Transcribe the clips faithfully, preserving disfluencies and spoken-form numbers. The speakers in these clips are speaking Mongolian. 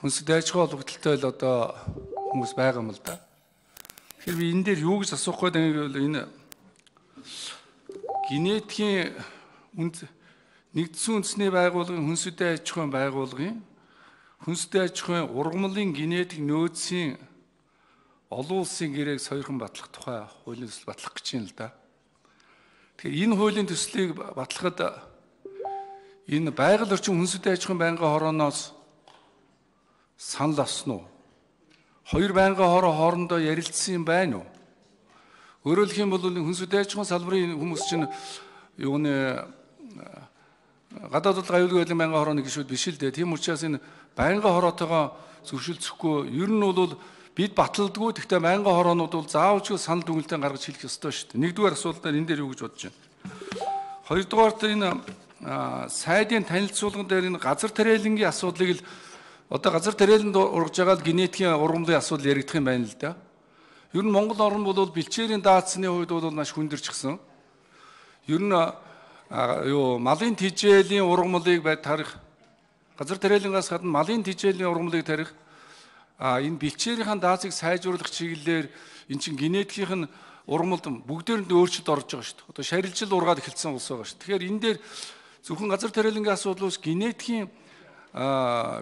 хүнсд аж ахуй холбогдлолтой л одоо хүмүүс байгаа юм л да. Тэгэхээр би энэ дээр юу гэж асуух гээд байгаа гэвэл энэ генетикийн нэгдсэн үндэсний байгууллагын хүнсүдэн аж ахуйн байгууллагын хүнсүдэн аж ахуйн ургамлын генетик нөөцийн олон улсын гэрээг сойрхон батлах тухай хуулийн төсөл батлах гэж юм л да. Тэгэхээр энэ хуулийн төслийг батлахад энэ байгаль орчин хүнсүдэн аж ахуйн байнгын хорооноос санал авсан уу? Хоёр байнгын хороо хоорондоо ярилцсан юм байна уу? Өөрөөр хэлэх юм бол хүнсүдэн аж ахуйн салбарын хүмүүс чинь юуны гадаад бодлого аюулгүй байдлын байнгын хорооны гишүүд биш л дээ. Тийм учраас энэ байнгын хороотойгоо зөвшөлдсөхгүй. Ер нь бол бид баталдаггүй. Гэхдээ байнгын хороонууд бол заавал ч санал дүгнэлтээ гаргаж хэлэх ёстой шүү дээ. Нэгдүгээр асуудал энэ дээр юу гэж бодож байна? Хоёрдугаарт энэ сайдын танилцуулган дээр энэ газар тариалангийн асуудлыг л одоо газар тариаланд ургаж байгаа л генетикийн ургамлын асуудал яригдах юм байна л да. Ер нь Монгол орн бол бэлчээрийн даацсны хувьд бол маш хүндэрчгсэн. Ер нь юу малын тижээлийн ургамлыг бай тарих газар тариалангаас гадна малын тижээлийн ургамлыг тарих а энэ бэлчээрийн даацыг сайжруулах чиглэлээр эн чин генетикийн ургамлд бүгдээр нь өөрчлөлт орж байгаа шүү дээ. Одоо шарилжил ургаад эхэлсэн улс байгаа шүү. Тэгэхээр энэ дээр зөвхөн газар тариалангийн асуудлаас генетикийн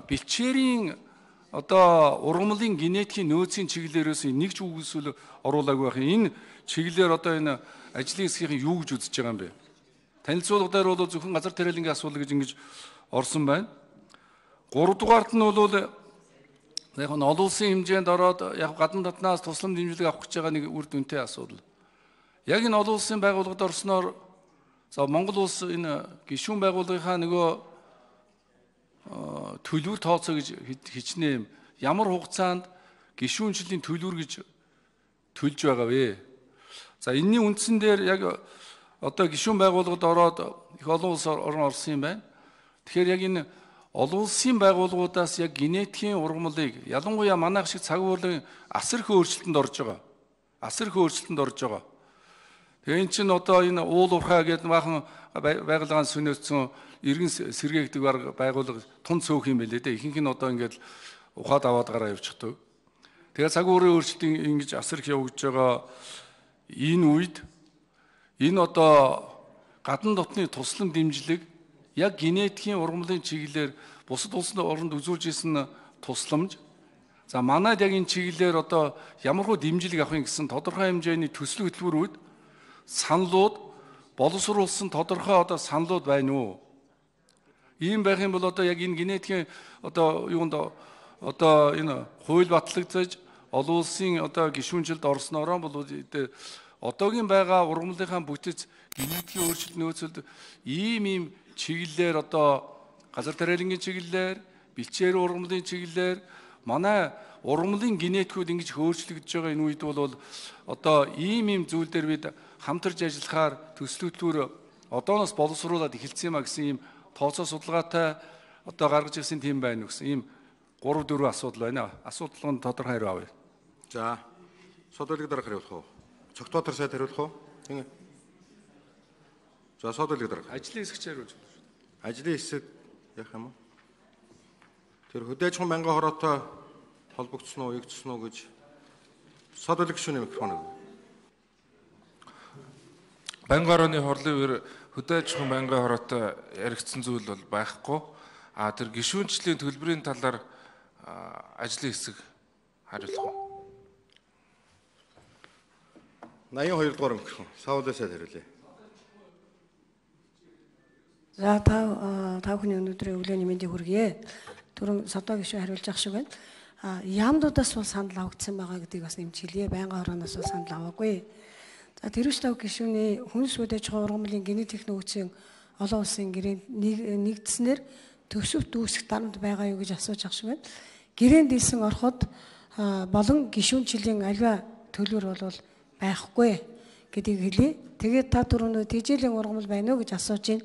бэлчээрийн одоо ургамлын генетикийн нөөцийн чиглэлээрээс нэг ч үгүйсэл оруулаагүй байх. Энэ чиглэлээр одоо энэ ажлын хэсгийн юу гэж үзэж байгаа юм бэ? Танилцуулга дээр бол зөвхөн газар тариалангийн асуудал гэж ингэж орсон байна. Гуравдугаарт нь бол яг нь олон улсын хэмжээнд ороод яг гадна дотноос тусламж дэмжлэг авах гэж байгаа нэг үр дүнтэй асуудал. Яг энэ олон улсын байгууллагад орсноор за Монгол улс энэ гишүүн байгууллагынхаа нөгөө төлбөр тооцоо гэж хичнээн ямар хугацаанд гишүүнчлийн төлбөр гэж төлж байгаа вэ? За энэний үндсэн дээр яг одоо гишүүн байгууллагад ороод их олон улс орн орсон юм байна. Тэгэхээр яг энэ олон улсын байгууллагуудаас яг генетикийн ургамлыг ялангуяа манайх шиг цаг уурлагын асар их өөрчлөлтөнд орж байгаа. Асар их өөрчлөлтөнд орж байгаа. Тэгээ эн чинь одоо энэ уул уурхай гэдэг баахан байгууллагын сүнөөцсөн иргэн сэргээгдэг байгууллага тун цөөх юм байлээ дээ. Ихэнх нь одоо ингээд ухаад аваад гараа явчихдаг. Тэгээ цаг уурын өөрчлөлт ингэж асар их явагдаж байгаа энэ үед энэ одоо гадна дотны туслан дэмжлэг яг генетикийн ургамлын чиглэлээр бусад улсын оронд үзүүлж исэн тусламж. За манайд яг энэ чиглэлээр одоо ямархуу дэмжлэг авахын гэсэн тодорхой хэмжээний төсөл хөтөлбөрүүд саналууд боловсруулсан тодорхой одоо саналууд байна уу? Ийм байх юм бол одоо яг энэ генетикийн одоо юунд одоо энэ хууль батлагдаж олон улсын одоо гишүүнжилд орсноороо бол одоогийн байгаа ургамлынхаа бүтэц генетикийн өөрчлөлт нөөцөд ийм ийм чиглэлээр одоо газар тариалангийн чиглэлээр бэлчээр ургамлын чиглэлээр манай ургамлын генетикүүд ингэж өөрчлөгдөж байгаа энэ үед бол одоо ийм ийм зүйл дээр бид хамтарч ажиллахаар төсөл хөтөлбөр одооноос боловсруулаад эхэлсэн юм а гэсэн ийм тооцоо судалгаатай одоо гаргаж ирсэн тийм байна гэсэн ийм гурав дөрвөн асуудал байна. Асуудал нь тодорхой хариу авъя. За содолыг дараа хариулах уу? Цогтоотор сайд хариулах уу? Тийм ээ. За содолыг дараа. Ажлын хэсэгч хариулж байна. Ажлын хэсэг яах юм бэ? Тэр хөдөө аж ахуйн байнгын хороотой холбогдсон уу, эгдсэн үү гэж содолыг гишүүний микрофоныг. Байнгын хорооны хорлын үеэр хөдөө аж ахуйн байнгын хороотой яригдсан зүйл бол байхгүй. А тэр гишүүнчлийн төлбөрийн талаар ажлын хэсэг хариулах уу? найман хоёр дугаар микрофон. Саулаа сайд хариулъя. За та та бүхний өнөөдрийн өглөөний мэндийг хүргье. Түрүүн содоо гишүүн хариулж ах шиг байна. А яамдуудаас бол санал авагдсан байгаа гэдгийг бас нэмж хэлье. Байнгын хорооноос бол санал аваагүй. За тэрвч тав гишүүний хүнс үдэж байгаа ургамлын генетик нөөцийн олон улсын гэрээнд нэгдснээр төсөвт үүсэх дарамт байгаа юу гэж асууж ах шиг байна. Гэрээнд ийсэн ороход болон гишүүнчлийн аливаа төлбөр бол байхгүй гэдгийг хэлье. Тэгээд та түрүүн тэжээлийн ургамал байна уу гэж асууж байна.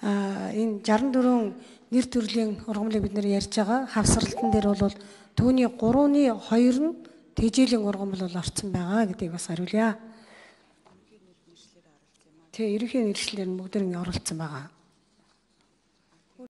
А энэ шестьдесят дөрвөн нэр төрлийн ургамлыг бид нэр ярьж байгаа. Хавсралтан дээр бол түүний гурваны хоёр нь тэжээлийн ургамал бол орцсон байгаа гэдгийг бас хариулъя. Тэгээ ерөнхий нэршлэлээр нь бүгд нь оролцсон байгаа.